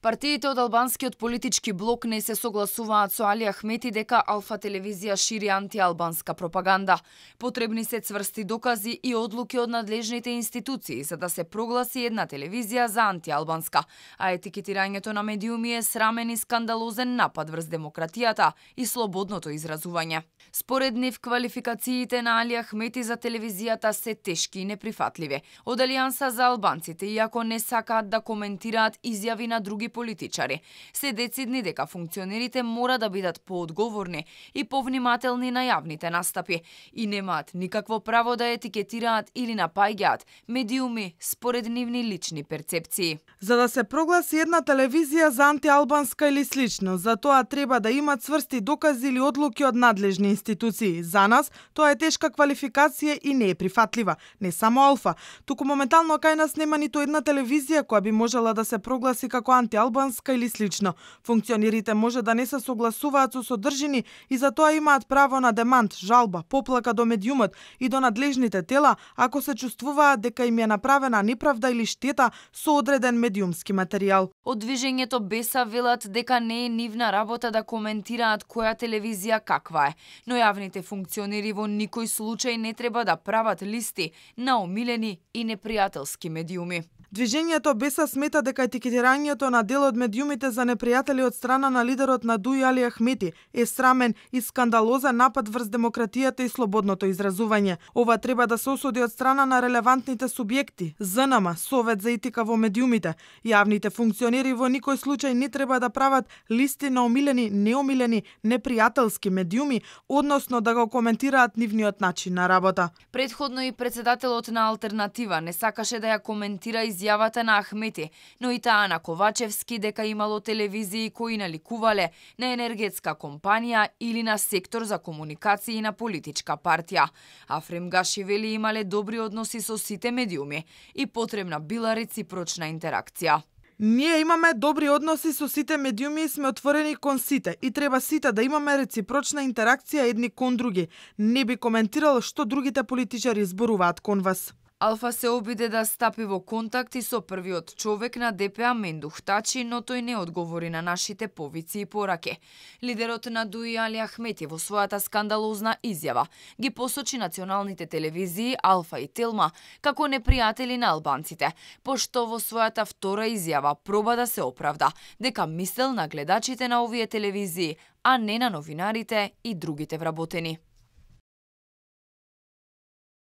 Партиите од албанскиот политички блок не се согласуваат со Али Ахмети дека Алфа телевизија шири антиалбанска пропаганда. Потребни се цврсти докази и одлуки од надлежните институции за да се прогласи една телевизија за антиалбанска, а етикетирањето на медиуми е срамен и скандалозен напад врз демократијата и слободното изразување. Според нив, квалификациите на Али Ахмети за телевизијата се тешки и неприфатливи. Од Алијанса за албанците, иако не сакаат да коментираат изјави на други политичари, се децидни дека функционерите мора да бидат поодговорни и повнимателни на јавните настапи и немаат никакво право да етикетираат или напаѓаат медиуми според нивни лични перцепции. За да се прогласи една телевизија за антиалбанска или слично, за тоа треба да има цврсти докази или одлуки од надлежни институции. За нас тоа е тешка квалификација и не е прифатлива. Не само Алфа, туку моментално кај нас нема ниту една телевизија која би можела да се прогласи како антиалбанска или слично. Функционерите може да не се согласуваат со содржини и за тоа имаат право на демант, жалба, поплака до медиумот и до надлежните тела ако се чувствуваат дека им е направена неправда или штета со одреден медиумски материјал. Од движењето Беса велат дека не е нивна работа да коментираат која телевизија каква е, но јавните функционери во никој случај не треба да прават листи на омилени и непријателски медиуми. Движењето Беса смета дека етикетирањето на дел од медиумите за непријатели од страна на лидерот на ДУИ Али Ахмети е срамен и скандалозен напад врз демократијата и слободното изразување. Ова треба да се осуди од страна на релевантните субјекти, ЗНМ, Совет за етика во медиумите. Јавните функционери во никој случај не треба да прават листи на омилени, неомилени, непријателски медиуми, односно да го коментираат нивниот начин на работа. Претходно и председателот на Алтернатива не сакаше да ја коментира изјавата на Ахмети, но и таа на Ковачевски дека имало телевизии кои наликувале на енергетска компанија или на сектор за комуникации на политичка партија. Афрем Гаши вели имале добри односи со сите медиуми и потребна била реципрочна интеракција. Ние имаме добри односи со сите медиуми и сме отворени кон сите и треба сите да имаме реципрочна интеракција едни кон други. Не би коментирал што другите политичари зборуваат кон вас. Алфа се обиде да стапи во контакти со првиот човек на ДПА Мендух Тачи, но тој не одговори на нашите повици и пораки. Лидерот на ДУИ Али Ахмети во својата скандалозна изјава ги посочи националните телевизии Алфа и Телма како непријатели на албанците, пошто во својата втора изјава проба да се оправда дека мислел на гледачите на овие телевизии, а не на новинарите и другите вработени.